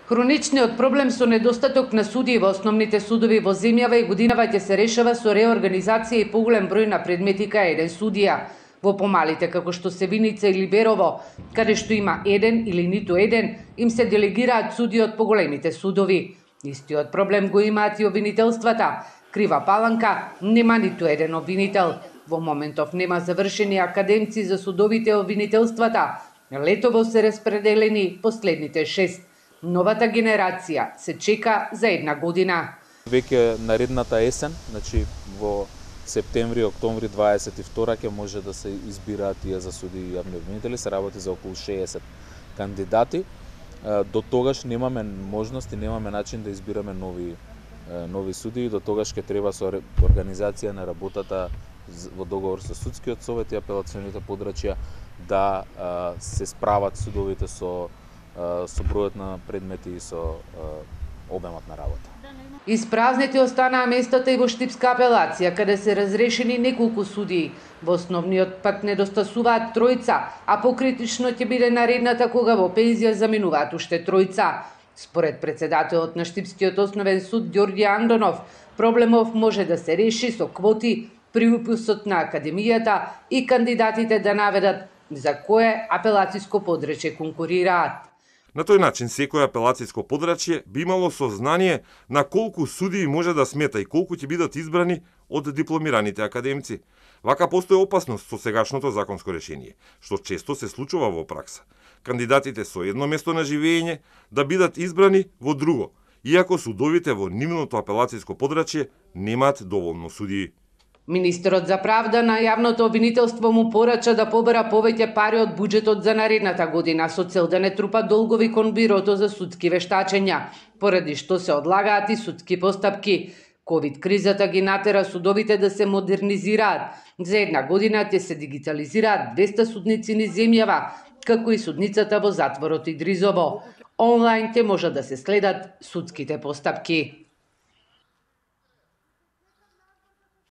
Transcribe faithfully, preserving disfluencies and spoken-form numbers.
Хроничниот проблем со недостаток на судии во основните судови во земјава и годинава ќе се решава со реорганизација и поголем број на предмети кај еден судија. Во помалите како што се Виница или Берово, каде што има еден или ниту еден, им се делегираат судии од поголемите судови. Истиот проблем го имаат и обвинителствата. Крива Паланка нема ниту еден обвинител. Во моментов нема завршени академци за судовите обвинителствата. Летово се распределени последните шест. Новата генерација се чека за една година. Веќе наредната есен, значи во септември, октомври дваесет и втора ќе може да се избираат тие за суди и јавни обвинители, се работи за околу шеесет кандидати. До тогаш немаме можност и немаме начин да избираме нови нови суди, до тогаш ќе треба со организација на работата во договор со судскиот совет и апелационите подрачја да се справат судовите со со бројот на предмети и со обемот на работа. Испразнети останаа местата и во Штипска апелација, каде се разрешени неколку судии. Во основниот пак недостасуваат тројца, а покритично ќе биде наредната кога во пензија заминуваат уште тројца. Според председателот на Штипскиот основен суд Ѓорѓе Андонов, проблемов може да се реши со квоти при уписот на академијата и кандидатите да наведат за кое апелациско подрачје конкурираат. На тој начин секој апелациско подрачје би имало сознание на колку судии може да смета и колку ќе бидат избрани од дипломираните академци. Вака постои опасност со сегашното законско решение, што често се случува во пракса. Кандидатите со едно место на живење да бидат избрани во друго, иако судовите во нивното апелациско подрачје немаат доволно судии. Министерот за правда на јавното обвинителство му порача да побара повеќе пари од буџетот за наредната година со цел да не трупа долгови кон бирото за судски вештачења, поради што се одлагаат и судски постапки. Ковид кризата ги натера судовите да се модернизираат. За една година ќе се дигитализираат двеста судници низ земјава, како и судницата во затворот Идризово. Онлайн ќе може да се следат судските постапки.